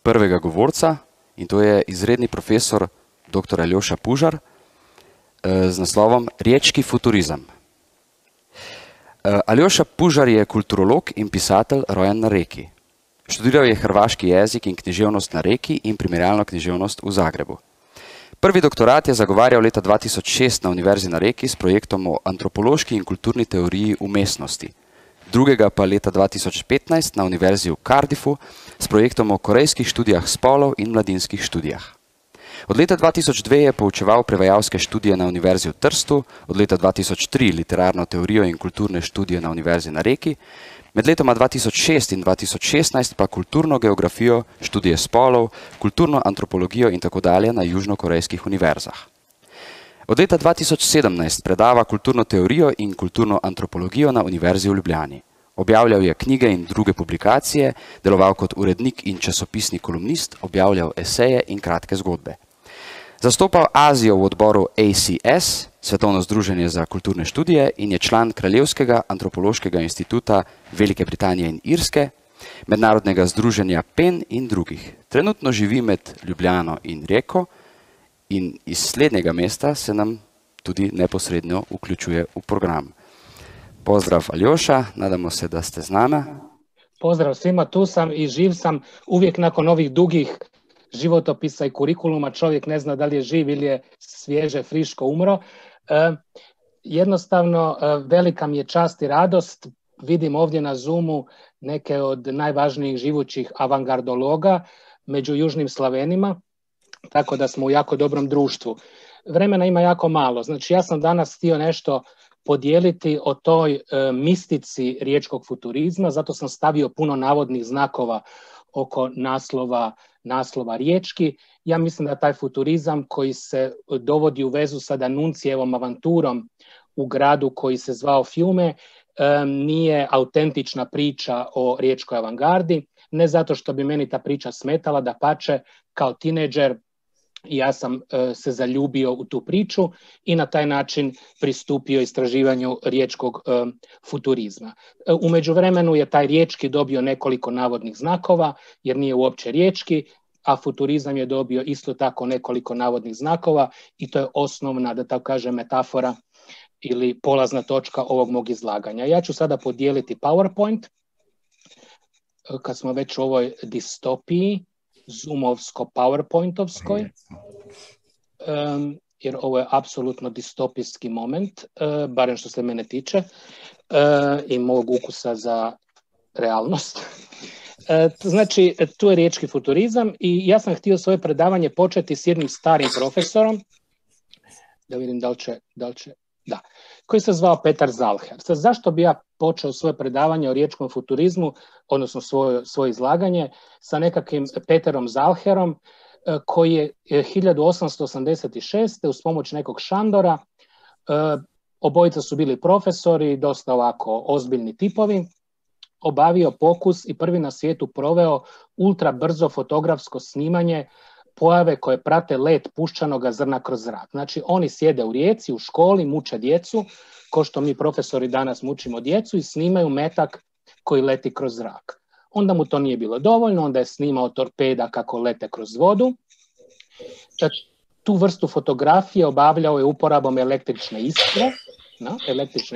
prvega govorca in to je izredni profesor dr. Aljoša Pužar z naslovom Riječki futurizam. Aljoša Pužar je kulturolog in pisatelj rojen na Reki. Študiral je hrvaški jezik in književnost na Reki in primerjalno književnost v Zagrebu. Prvi doktorat je zagovarjal leta 2006 na Univerzi na Reki s projektom o antropološki in kulturni teoriji umestnosti. Drugega pa leta 2015 na Univerzi v Cardiffu s projektom o korejskih študijah spolov in mladinskih študijah. Od leta 2002 je poučeval prevajalske študije na Univerzi v Trstu, od leta 2003 literarno teorijo in kulturne študije na Univerzi na Reki, med letoma 2006 in 2016 pa kulturno geografijo, študije spolov, kulturno antropologijo in tako dalje na južnokorejskih univerzah. Od leta 2017 predava kulturno teorijo in kulturno antropologijo na Univerzi v Ljubljani. Objavljal je knjige in druge publikacije, deloval kot urednik in časopisni kolumnist, objavljal eseje in kratke zgodbe. Zastopal Azijo v odboru ACS, Svetovno združenje za kulturne študije, in je član Kraljevskega antropološkega instituta Velike Britanije in Irske, Mednarodnega združenja PEN in drugih. Trenutno živi med Ljubljano in Reko in iz slednjega mesta se nam tudi neposredno vključuje v program. Pozdrav Aljoša, nadamo se da ste z nama. Pozdrav svima, tu sam i živ sam. Uvijek nakon ovih dugih životopisa i kurikuluma čovjek ne zna da li je živ ili je svježe, friško umro. Jednostavno, velika mi je čast i radost. Vidim ovdje na Zoomu neke od najvažnijih živućih avangardologa među južnim Slavenima, tako da smo u jako dobrom društvu. Vremena ima jako malo. Znači, ja sam danas htio nešto podijeliti o toj mistici riječkog futurizma, zato sam stavio puno navodnih znakova oko naslova riječki. Ja mislim da taj futurizam koji se dovodi u vezu sa Danuncijevom avanturom u gradu koji se zvao Fiume nije autentična priča o riječkoj avangardi, ne zato što bi meni ta priča smetala, dapače, kao tinejdžer ja sam se zaljubio u tu priču i na taj način pristupio istraživanju riječkog futurizma. U međuvremenu je taj riječki dobio nekoliko navodnih znakova, jer nije uopće riječki, a futurizam je dobio isto tako nekoliko navodnih znakova i to je osnovna, da tako kažem, metafora ili polazna točka ovog mog izlaganja. Ja ću sada podijeliti PowerPoint, kad smo već u ovoj distopiji, zoomovsko-powerpointovskoj, jer ovo je apsolutno distopijski moment, barem što se mene tiče, i mog ukusa za realnost. Znači, tu je riječki futurizam i ja sam htio svoje predavanje početi s jednim starim profesorom, da vidim da, koji se zvao Petar Zalher. Sad, zašto bi ja počeo svoje predavanje o riječkom futurizmu, odnosno svoje izlaganje, sa nekakvim Peterom Zalherom, koji je 1886. uz pomoć nekog Šandora, obojica su bili profesori, dosta ovako ozbiljni tipovi, obavio pokus i prvi na svijetu proveo ultra brzo fotografsko snimanje pojave koje prate let puščanoga zrna kroz zrak. Znači, oni sjede u Rijeci, u školi, muče djecu, ko što mi profesori danas mučimo djecu, i snimaju metak koji leti kroz zrak. Onda mu to nije bilo dovoljno, onda je snimao torpeda kako lete kroz vodu. Tu vrstu fotografije obavljao je uporabom električne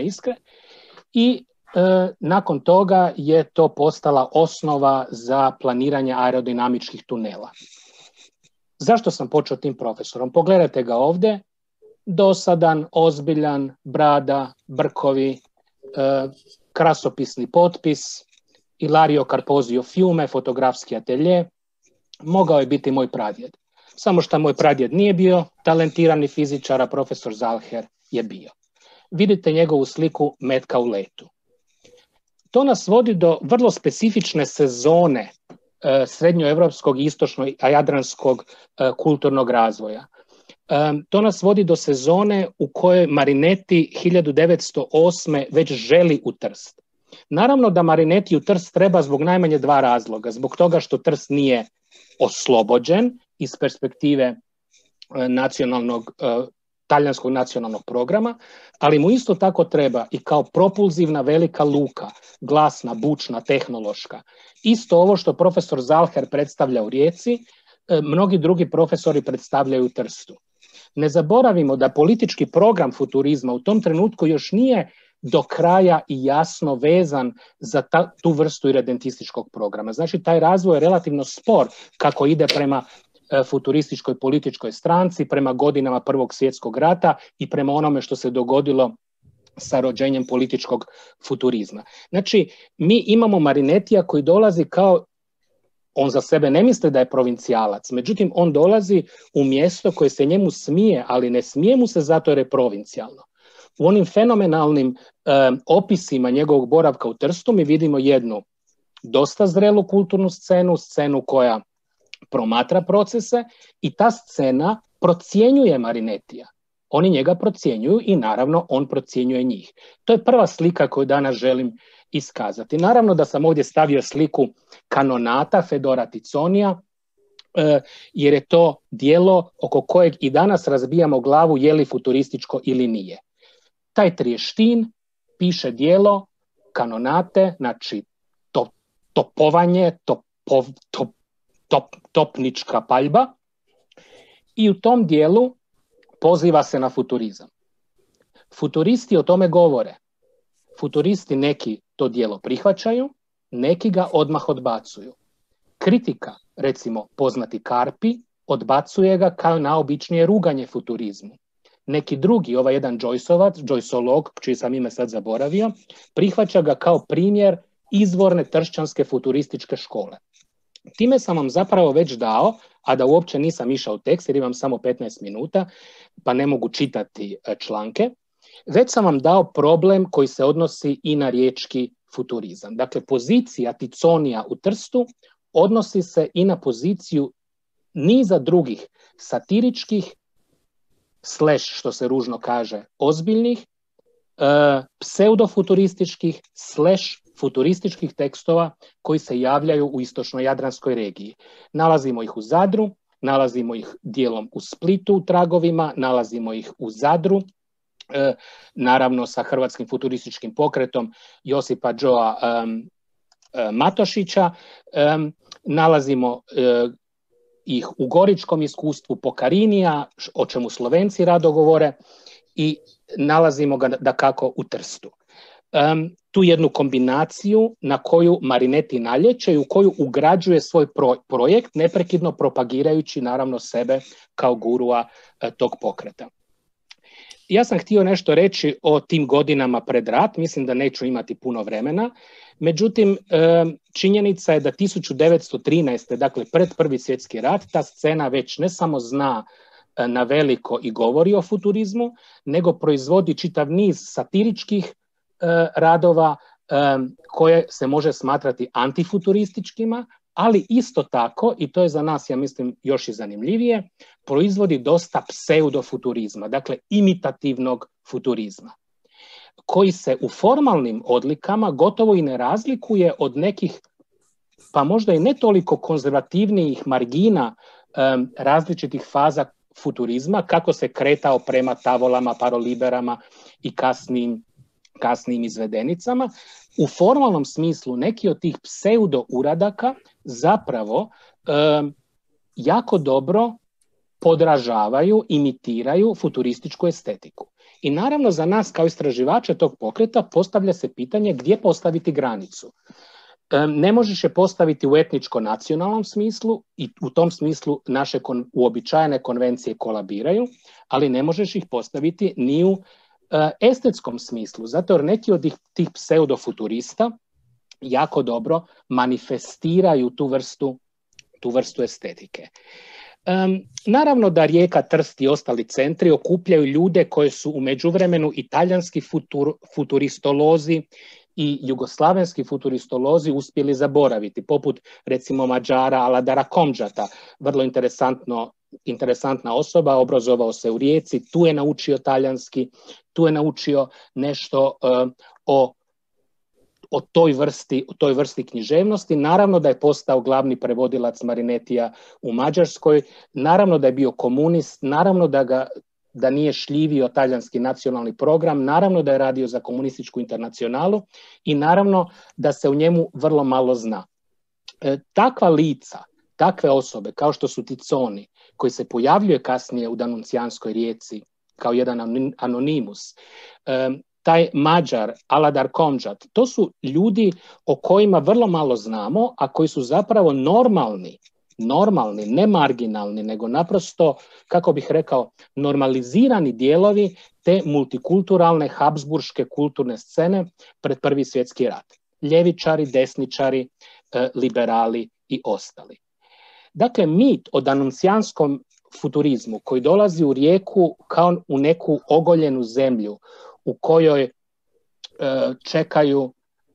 iskre i nakon toga je to postala osnova za planiranje aerodinamičkih tunela. Zašto sam počeo tim profesorom? Pogledajte ga ovdje, dosadan, ozbiljan, brada, brkovi, krasopisni potpis, Ilario Carpozio Fiume, fotografski atelje, mogao je biti moj pradjed. Samo što moj pradjed nije bio talentirani fizičar, a profesor Zalher je bio. Vidite njegovu sliku metka u letu. To nas vodi do vrlo specifične sezone srednjoevropskog i istočno-jadranskog kulturnog razvoja. To nas vodi do sezone u kojoj Marinetti 1908. već želi u Trst. Naravno da Marinetti u Trst treba zbog najmanje dva razloga. Zbog toga što Trst nije oslobođen iz perspektive nacionalnog talijanskog nacionalnog programa, ali mu isto tako treba i kao propulzivna velika luka, glasna, bučna, tehnološka. Isto ovo što profesor Zalher predstavlja u Rijeci, mnogi drugi profesori predstavljaju u Trstu. Ne zaboravimo da politički program futurizma u tom trenutku još nije do kraja i jasno vezan za tu vrstu iredentističkog programa. Znači, taj razvoj je relativno spor kako ide prema futurističkoj političkoj stranci, prema godinama Prvog svjetskog rata i prema onome što se dogodilo sa rođenjem političkog futurizma. Znači, mi imamo Marinetija koji dolazi kao, on za sebe ne misli da je provincijalac, međutim on dolazi u mjesto koje se njemu smije, ali ne smije mu se zato jer je provincijalno. U onim fenomenalnim opisima njegovog boravka u Trstu mi vidimo jednu dosta zrelu kulturnu scenu koja promatra procese i ta scena procjenjuje Marinetija. Oni njega procjenjuju i naravno on procjenjuje njih. To je prva slika koju danas želim iskazati. Naravno da sam ovdje stavio sliku Kanonata Fedora Ticonija, jer je to djelo oko kojeg i danas razbijamo glavu je li futurističko ili nije. Taj Trieštin piše djelo Kanonate, znači topovanje, topnička paljba, i u tom dijelu poziva se na futurizam. Futuristi o tome govore. Futuristi neki to djelo prihvaćaju, neki ga odmah odbacuju. Kritika, recimo poznati Karpi, odbacuje ga kao naobičnije ruganje futurizmu. Neki drugi, ovaj jedan Joyceolog, čiji sam ime sad zaboravio, prihvaća ga kao primjer izvorne tršćanske futurističke škole. Time sam vam zapravo već dao, a da uopće nisam išao u tekst jer imam samo 15 minuta, pa ne mogu čitati članke, već sam vam dao problem koji se odnosi i na riječki futurizam. Dakle, pozicija Ticonija u Trstu odnosi se i na poziciju niza drugih satiričkih, što se ružno kaže, ozbiljnih, pseudofuturističkih, futurističkih tekstova koji se javljaju u istočno-jadranskoj regiji. Nalazimo ih u Zadru, nalazimo ih dijelom u Splitu u tragovima, nalazimo ih u Zadru, naravno sa hrvatskim futurističkim pokretom Josipa Džoa Matošića, nalazimo ih u goričkom iskustvu Pokarinija, o čemu Slovenci rado govore, i nalazimo ga dakako u Trstu. Tu jednu kombinaciju na koju Marinetti nalječe i u koju ugrađuje svoj projekt, neprekidno propagirajući naravno sebe kao gurua tog pokreta. Ja sam htio nešto reći o tim godinama pred rat, mislim da neću imati puno vremena, međutim činjenica je da 1913. dakle pred Prvi svjetski rat, ta scena već ne samo zna na veliko i govori o futurizmu, nego proizvodi čitav niz satiričkih radova koje se može smatrati antifuturističkima, ali isto tako, i to je za nas, ja mislim, još i zanimljivije, proizvodi dosta pseudofuturizma, dakle imitativnog futurizma, koji se u formalnim odlikama gotovo i ne razlikuje od nekih, pa možda i ne toliko konzervativnijih margina različitih faza futurizma, kako se kretao prema tavolama, paroliberama i kasnijim izvedenicama. U formalnom smislu neki od tih pseudo uradaka zapravo jako dobro podražavaju, imitiraju futurističku estetiku. I naravno za nas kao istraživače tog pokreta postavlja se pitanje gdje postaviti granicu. Ne možeš je postaviti u etničko-nacionalnom smislu i u tom smislu naše uobičajene konvencije kolabiraju, ali ne možeš ih postaviti ni u estetskom smislu, zato jer neki od tih pseudofuturista jako dobro manifestiraju tu vrstu estetike. Naravno da Rijeka, Trst i ostali centri okupljaju ljude koje su u međuvremenu i talijanski futuristolozi i jugoslavenski futuristolozi uspjeli zaboraviti, poput recimo Mađara Aladara Komđata, vrlo interesantna osoba, obrazovao se u Rijeci, tu je naučio talijanski, tu je naučio nešto o toj vrsti književnosti. Naravno da je postao glavni prevodilac Marinettija u Mađarskoj, naravno da je bio komunist, naravno da ga da nije šljivio talijanski nacionalni program, naravno da je radio za komunističku internacionalu i naravno da se u njemu vrlo malo zna. Takva lica, takve osobe kao što su Ticoni, koji se pojavljuje kasnije u Danuncijanskoj rijeci kao jedan anonimus, taj Mađar, Aladar Komđat, to su ljudi o kojima vrlo malo znamo, a koji su zapravo normalni, ne marginalni, nego naprosto, kako bih rekao, normalizirani dijelovi te multikulturalne habsburške kulturne scene pred Prvi svjetski rat. Ljevičari, desničari, liberali i ostali. Dakle, mit o danuncijanskom futurizmu koji dolazi u Rijeku kao u neku ogoljenu zemlju u kojoj čekaju,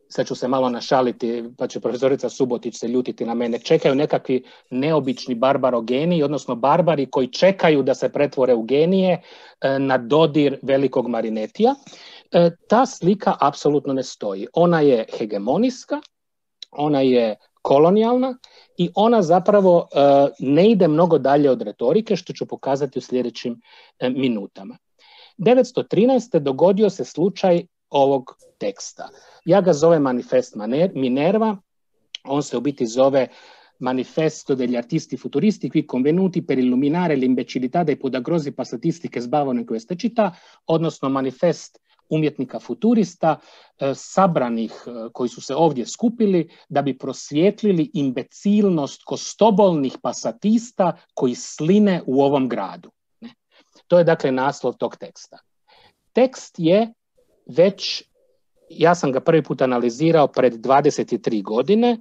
sad ću se malo našaliti, pa će profesorica Subotić se ljutiti na mene, čekaju nekakvi neobični barbarogeni, odnosno barbari koji čekaju da se pretvore u genije na dodir velikog Marinetija. Ta slika apsolutno ne stoji. Ona je hegemonijska, ona je kolonijalna i ona zapravo ne ide mnogo dalje od retorike, što ću pokazati u sljedećim minutama. 1913. dogodio se slučaj ovog teksta. Ja ga zovem Manifest Minerva, on se u biti zove Manifesto degli artisti futuristi qui convenuti per illuminare l'imbecillità dei podagrosi passatisti sbavano in questa città, odnosno manifest umjetnika futurista, sabranih koji su se ovdje skupili da bi prosvjetlili imbecilnost kostobolnih pasatista koji sline u ovom gradu. To je dakle naslov tog teksta. Tekst je već, ja sam ga prvi put analizirao pred 23 godine,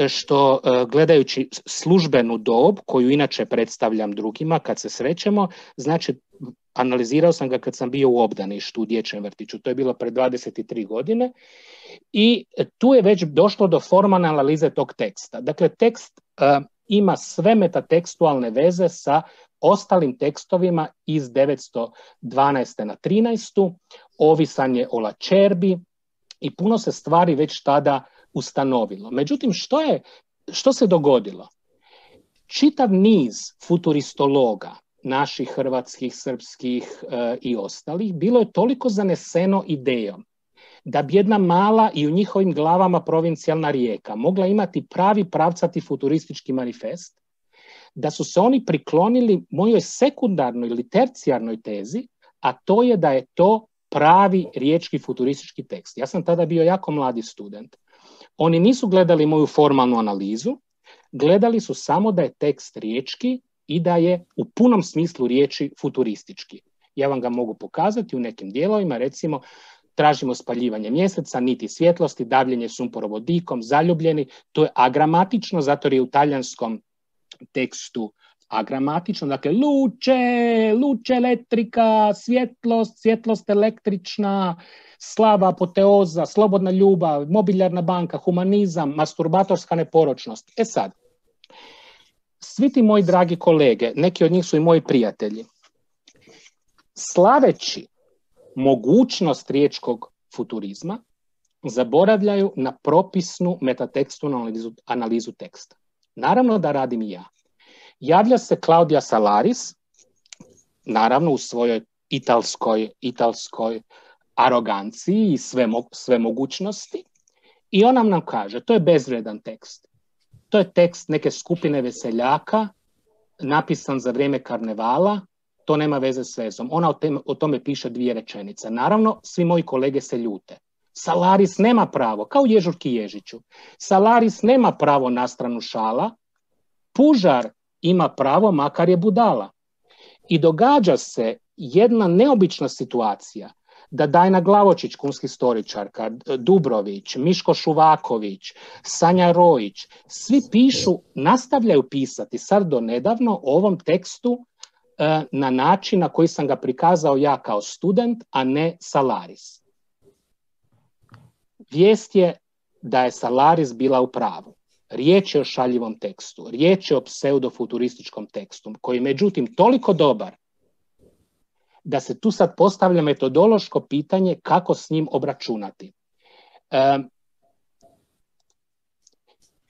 što gledajući službenu dob, koju inače predstavljam drugima kad se srećemo, znači analizirao sam ga kad sam bio u obdaništu u dječjem vrtiću, to je bilo pred 23 godine i tu je već došlo do formalne analize tog teksta. Dakle, tekst ima sve metatekstualne veze sa ostalim tekstovima iz 912. na 13. Ovisan je o Lačerbi i puno se stvari već tada ustanovilo. Međutim, što se dogodilo? Čitav niz futuristologa, naših hrvatskih, srpskih i ostalih, bilo je toliko zaneseno idejom da bi jedna mala i u njihovim glavama provincijalna Rijeka mogla imati pravi pravcati futuristički manifest, da su se oni priklonili mojoj sekundarnoj ili tercijarnoj tezi, a to je da je to pravi riječki futuristički tekst. Ja sam tada bio jako mladi student. Oni nisu gledali moju formalnu analizu, gledali su samo da je tekst riječki i da je u punom smislu riječi futuristički. Ja vam ga mogu pokazati u nekim dijelovima, recimo tražimo spaljivanje mjeseca, niti svjetlosti, davljenje sumporovodikom, zaljubljeni. To je agramatično, zato je u talijanskom tekstu agramatično, dakle luce elektrika, svjetlost električna, slava apoteoza, slobodna ljubav, mobilijarna banka, humanizam, masturbatorska neporočnost. E sad, svi ti moji dragi kolege, neki od njih su i moji prijatelji, slaveći mogućnost riječkog futurizma, zaboravljaju na propisnu metatekstualnu analizu teksta. Naravno da radim i ja. Javlja se Claudia Salaris, naravno u svojoj italskoj aroganciji i sve mogućnosti, i ona nam kaže, to je bezvredan tekst. To je tekst neke skupine veseljaka, napisan za vrijeme karnevala, to nema veze s vezom. Ona o tome piše 2 rečenice. Naravno, svi moji kolege se ljute. Salaris nema pravo, kao Ježurki Ježiću. Salaris nema pravo na stranu šala, Pužar ima pravo, makar je budala. I događa se jedna neobična situacija da Dajna Glavočić, kunski historičarka, Dubrović, Miško Šuvaković, Sanja Rojić, svi pišu, nastavljaju pisati sad do nedavno o ovom tekstu na način na koji sam ga prikazao ja kao student, a ne Salaris. Vijest je da je Salaris bila u pravu. Riječ je o šaljivom tekstu, riječ je o pseudofuturističkom tekstu, koji je međutim toliko dobar da se tu sad postavlja metodološko pitanje kako s njim obračunati.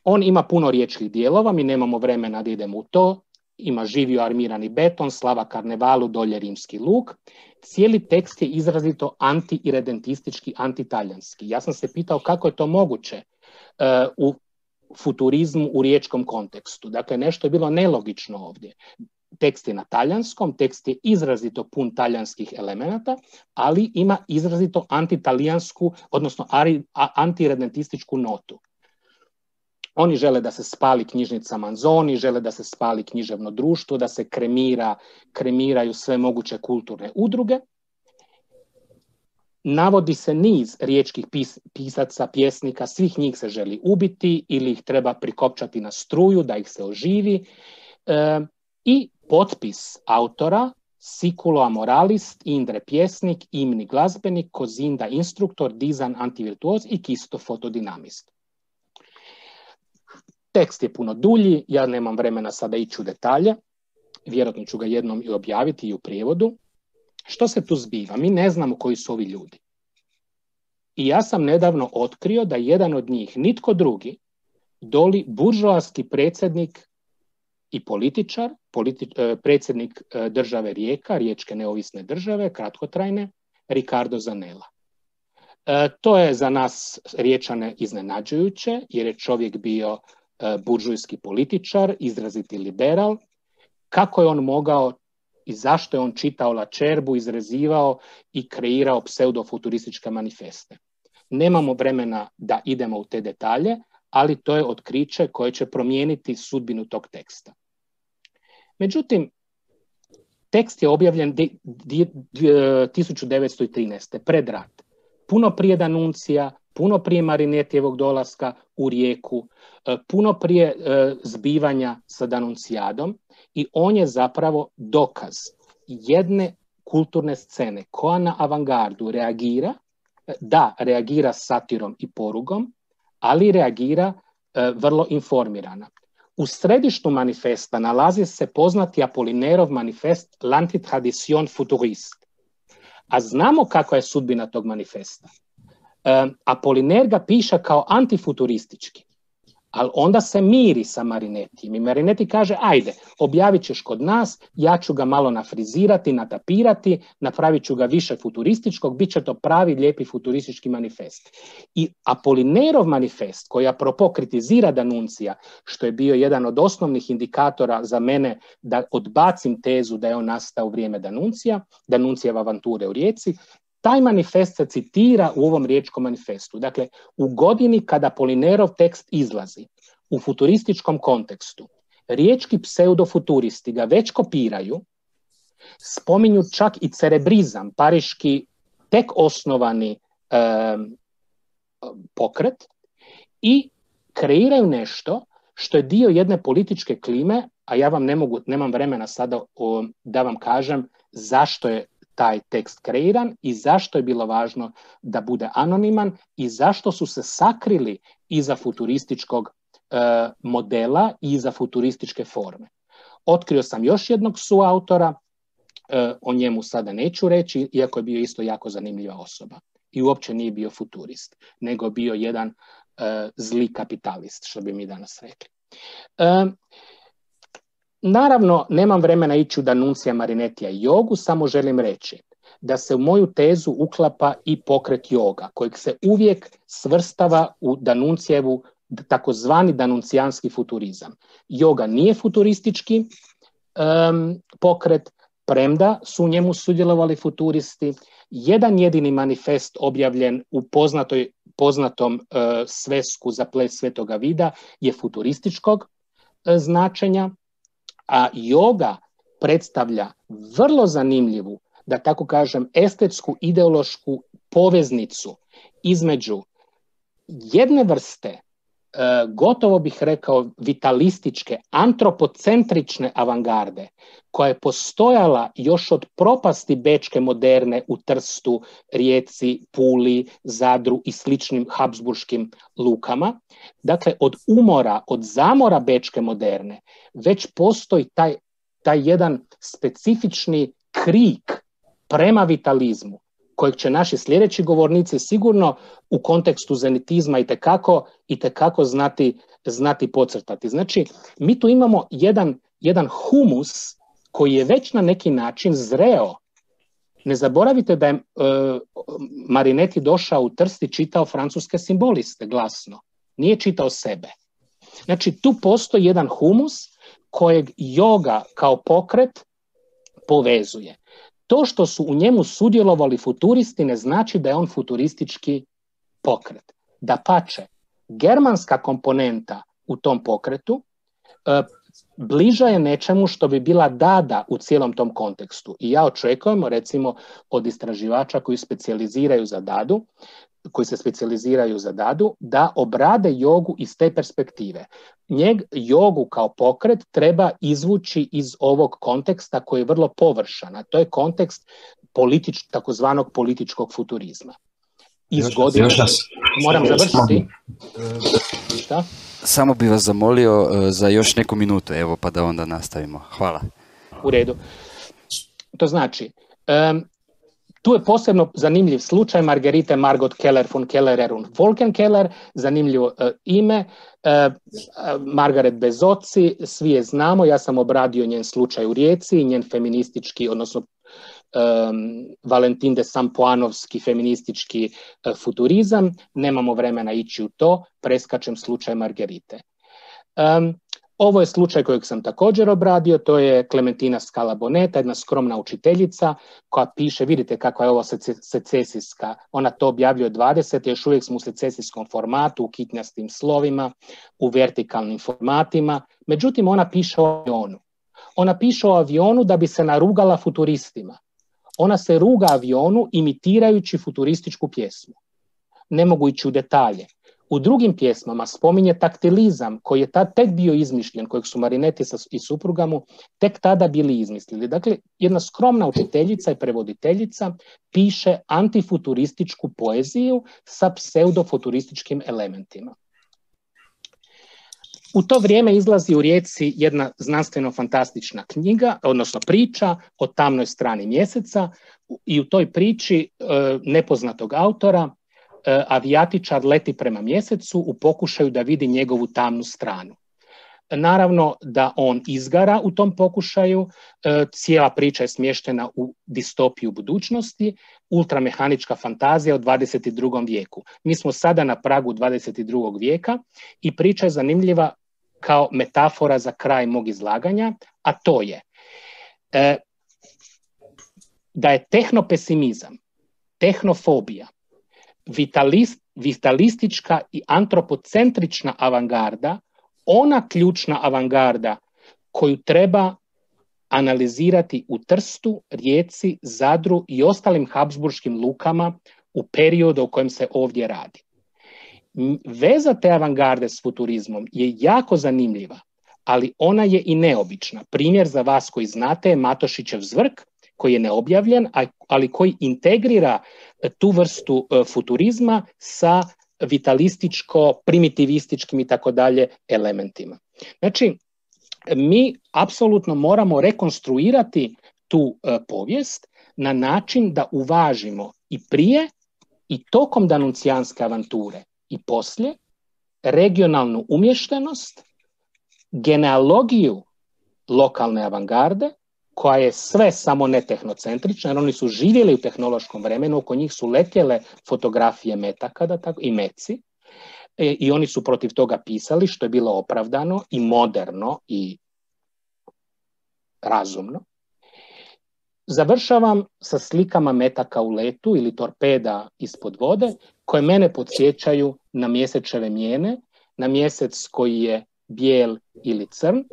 On ima puno riječkih dijelova, mi nemamo vremena da idemo u to. ima živio armirani beton, slava karnevalu, dolje rimski luk. Cijeli tekst je izrazito anti-iredentistički, anti-talijanski. Ja sam se pitao kako je to moguće u futurizmu u riječkom kontekstu. Dakle, nešto je bilo nelogično ovdje. Tekst je na talijanskom, tekst je izrazito pun talijanskih elemenata, ali ima izrazito antitalijansku, odnosno anti-iredentističku notu. Oni žele da se spali knjižnica Manzoni, žele da se spali književno društvo, da se kremiraju sve moguće kulturne udruge. Navodi se niz riječkih pisaca, pjesnika, svih njih se želi ubiti ili ih treba prikopčati na struju da ih se oživi. I potpis autora, Siculo amoralist, Indre pjesnik, Imni glazbenik, Kozinda instruktor, Dizan antivirtuoz i Kisto fotodinamist. Tekst je puno dulji, ja nemam vremena sada ići u detalje, vjerojatno ću ga jednom i objaviti i u prijevodu. Što se tu zbiva? Mi ne znamo koji su ovi ljudi. I ja sam nedavno otkrio da jedan od njih, nitko drugi, doli buržoaski predsjednik i političar, predsjednik države Rijeka, Riječke neovisne države, kratkotrajne, Riccardo Zanella. To je za nas Riječane iznenađujuće, jer je čovjek bio buržujski političar, izraziti liberal. Kako je on mogao i zašto je on čitao Lačerbu, izrezivao i kreirao pseudofuturističke manifeste? Nemamo vremena da idemo u te detalje, ali to je otkriće koje će promijeniti sudbinu tog teksta. Međutim, tekst je objavljen 1913. pred rat. Puno prije Danuncija, puno prije Marinetijevog dolaska u Rijeku, puno prije zbivanja sa Danuncijadom, i on je zapravo dokaz jedne kulturne scene koja na avangardu reagira satirom i porugom, ali reagira vrlo informirana. U središtu manifesta nalazi se poznati Apolinerov manifest L'Antitradition futuriste. A znamo kakva je sudbina tog manifesta. Apoliner ga piše kao antifuturistički, ali onda se miri sa Marinetijem i Marinetti kaže, ajde, objavit ćeš kod nas, ja ću ga malo nafrizirati, natapirati, napravit ću ga više futurističkog, bit će to pravi lijepi futuristički manifest. I Apolinerov manifest, koji apropo kritizira Danuncija, što je bio jedan od osnovnih indikatora za mene da odbacim tezu da je on nastao u vrijeme Danuncijeva avanture u Rijeci, taj manifest se citira u ovom riječkom manifestu. Dakle, u godini kada Apolinerov tekst izlazi u futurističkom kontekstu, riječki pseudofuturisti ga već kopiraju, spominju čak i cerebrizam, pariški tek osnovani pokret, i kreiraju nešto što je dio jedne političke klime, a ja vam nemam vremena sada da vam kažem zašto je taj tekst kreiran i zašto je bilo važno da bude anoniman i zašto su se sakrili iza futurističkog modela i iza futurističke forme. Otkrio sam još jednog suautora, o njemu sada neću reći, iako je bio isto jako zanimljiva osoba. I uopće nije bio futurist, nego bio jedan zli kapitalist, što bi mi danas rekli. Naravno, nemam vremena ići u Danuncija, Marinettija i jogu, samo želim reći da se u moju tezu uklapa i pokret joga, kojeg se uvijek svrstava u Danuncijevu takozvani danuncijanski futurizam. Joga nije futuristički pokret, premda su u njemu sudjelovali futuristi. Jedan jedini manifest objavljen u poznatom svesku za ples Svetoga Vida je futurističkog značenja, a joga predstavlja vrlo zanimljivu, da tako kažem, estetsku, ideološku poveznicu između jedne vrste, gotovo bih rekao vitalističke, antropocentrične avangarde, koja je postojala još od propasti bečke moderne u Trstu, Rijeci, Puli, Zadru i sličnim habsburškim lukama. Dakle, od umora, od zamora bečke moderne, već postoji taj jedan specifični krik prema vitalizmu, kojeg će naši sljedeći govornici sigurno u kontekstu zenitizma itekako znati podcrtati. Znači, mi tu imamo jedan jedan humus koji je već na neki način zreo. Ne zaboravite da je Marinetti došao u Trst i čitao francuske simboliste glasno. Nije čitao sebe. Znači, tu postoji jedan humus kojeg yoga kao pokret povezuje. To što su u njemu sudjelovali futuristi ne znači da je on futuristički pokret. Dapače, germanska komponenta u tom pokretu bliža je nečemu što bi bila Dada u cijelom tom kontekstu. I ja očekujem, recimo, od istraživača koji se specijaliziraju za Dadu, da obrade jogu iz te perspektive. Jogu kao pokret treba izvući iz ovog konteksta koji je vrlo površan, a to je kontekst takozvanog političkog futurizma. Moram završiti. Šta? Samo bi vas zamolio za još neku minutu, evo, pa da onda nastavimo. Hvala. U redu. To znači, tu je posebno zanimljiv slučaj Margarite Margot Keller von Keller und Volkenkeller, zanimljivo ime, Margaret bez oci, svi je znamo, ja sam obradio njen slučaj u Rijeci, njen feministički, odnosno Valentin de Sampoanovski feministički futurizam, nemamo vremena ići u to, preskačem slučaj Margarite. Ovo je slučaj kojeg sam također obradio, to je Clementina Scala Boneta, jedna skromna učiteljica koja piše, vidite kakva je ovo secesijska, ona to objavljuje 20, još uvijek smo u secesijskom formatu, u kitnjastim slovima, u vertikalnim formatima, međutim ona piše o avionu. Ona piše o avionu da bi se narugala futuristima. Ona se ruga avionu imitirajući futurističku pjesmu. Ne mogu ići u detalje. U drugim pjesmama spominje taktilizam koji je tek bio izmišljen, kojeg su Marinetti i supruga mu tek tada bili izmislili. Dakle, jedna skromna učiteljica i prevoditeljica piše antifuturističku poeziju sa pseudofuturističkim elementima. U to vrijeme izlazi u Rijeci jedna znanstveno-fantastična knjiga, odnosno priča o tamnoj strani mjeseca i u toj priči nepoznatog autora avijatičar leti prema mjesecu u pokušaju da vidi njegovu tamnu stranu. Naravno da on izgara u tom pokušaju, cijela priča je smještena u distopiju budućnosti, ultramehanička fantazija u 22. vijeku. Mi smo sada na pragu 22. vijeka i priča je zanimljiva kao metafora za kraj mog izlaganja, a to je da je tehnopesimizam, tehnofobija, vitalistička i antropocentrična avangarda ona ključna avangarda koju treba analizirati u Trstu, Rijeci, Zadru i ostalim habsburškim lukama u periodu o kojem se ovdje radi. Veza te avangarde s futurizmom je jako zanimljiva, ali ona je i neobična. Primjer za vas koji znate je Matošićev Zvrk, koji je neobjavljen, ali koji integrira tu vrstu futurizma sa vitalističko-primitivističkim i tako dalje elementima. Znači, mi apsolutno moramo rekonstruirati tu povijest na način da uvažimo i prije i tokom danuncijanske avanture i poslije regionalnu umještenost, genealogiju lokalne avangarde, koja je sve samo ne tehnocentrična, jer oni su živjeli u tehnološkom vremenu, oko njih su letjele fotografije metaka i meci, i oni su protiv toga pisali, što je bilo opravdano i moderno i razumno. Završavam sa slikama metaka u letu ili torpeda ispod vode, koje mene podsjećaju na mjesečeve mijene, na mjesec koji je bijel ili crn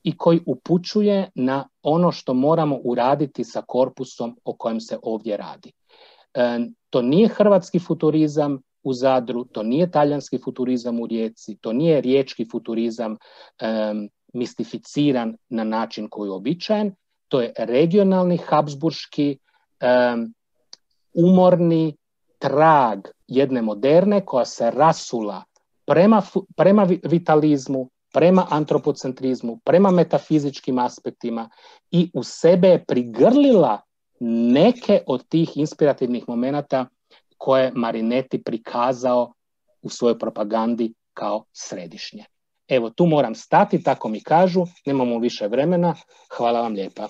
i koji upućuje na ono što moramo uraditi sa korpusom o kojem se ovdje radi. To nije hrvatski futurizam u Zadru, to nije talijanski futurizam u Rijeci, to nije riječki futurizam mistificiran na način koji je uobičajen, to je regionalni, habsburški, umorni trag jedne moderne koja se rasula prema vitalizmu, prema antropocentrizmu, prema metafizičkim aspektima i u sebe je prigrlila neke od tih inspirativnih momenata koje Marinetti prikazao u svojoj propagandi kao središnje. Evo, tu moram stati, tako mi kažu, nemamo više vremena. Hvala vam lijepa.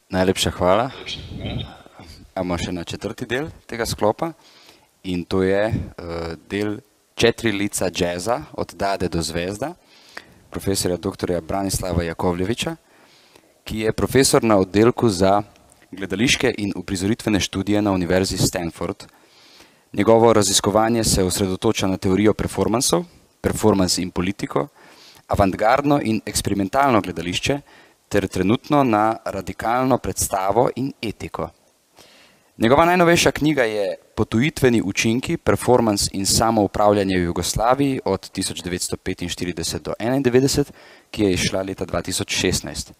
Najlepša hvala. Imamo še na četrti del tega sklopa in to je del 4 lica džeza od Dade do zvezda, profesorja dr. Branislava Jakovljevića, ki je profesor na oddelku za gledališke in uprizoritvene študije na Univerzi Stanford. Njegovo raziskovanje se osredotoča na teorijo performansov, performans in politiko, avantgardno in eksperimentalno gledališče ter trenutno na radikalno predstavo in etiko. Njegova najnovejša knjiga je Potujitveni učinki, performans in samoupravljanje v Jugoslaviji od 1945 do 1991, ki je izšla leta 2016.